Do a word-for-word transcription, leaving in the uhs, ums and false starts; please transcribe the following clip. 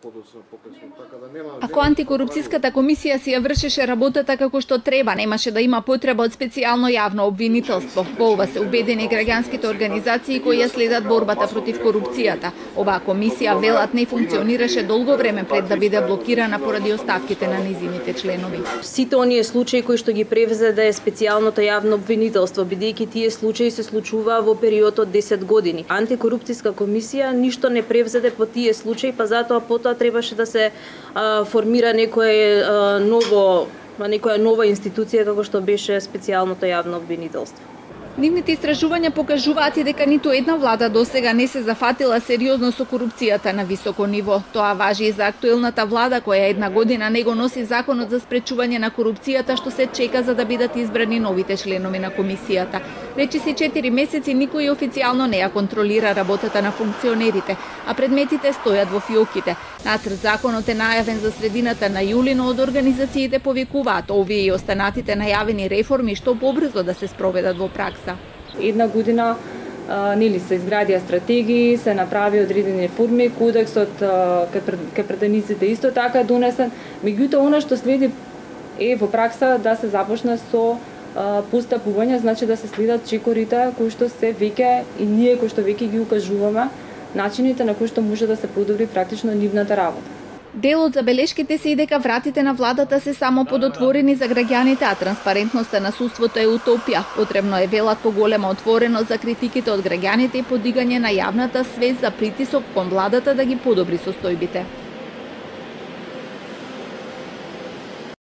подоцна покасно, така да нема. Ако антикорупцијската комисија си ја вршеше работата како што треба, немаше да има потреба од специјално јавно обвинителство. Во ова се убедени граѓанските организации кои ја следат борбата против корупцијата. Оваа комисија, велат, не функционираше долго време пред да биде блокирана поради оставките на низините членови. Сите оние случаи кои што ги превзеде специјалното јавно обвинителство, бидејќи тие случаи се случуваа во период од десет години. Антикорупцијска комисија ништо не превзеде по тие случаи, па затоа потоа требаше да се а, формира некое а, ново, некоја нова институција како што беше специјалното јавно обвинителство. Нивните истражувања покажуваат и дека ниту една влада досега не се зафатила сериозно со корупцијата на високо ниво. Тоа важи и за актуелната влада која една година не го носи законот за спречување на корупцијата што се чека за да бидат избрани новите членови на комисијата. Речиси четири месеци никој официјално не ја контролира работата на функционерите, а предметите стојат во фиоките. Нацрт законот е најавен за средината на јули, но од организациите повикуваат овие и останатите најавени реформи што побрзо да се спроведат во пракса. Една година а, нели се изградија стратегии, се направи одредени реформи, кодексот кај пратениците исто така е донесен. Меѓутоа она што следи е во пракса да се започне со а, постапување, значи да се следат чекорите кои што се веќе и ние кои што веќе ги укажуваме начините на кои што може да се подобри практично нивната работа. Дел од забелешките се и дека вратите на владата се само подотворени за граѓаните, а транспарентноста на судството е утопија. Потребно е, велат, поголема отвореност за критиките од граѓаните и подигање на јавната свест за притисок кон владата да ги подобри состојбите.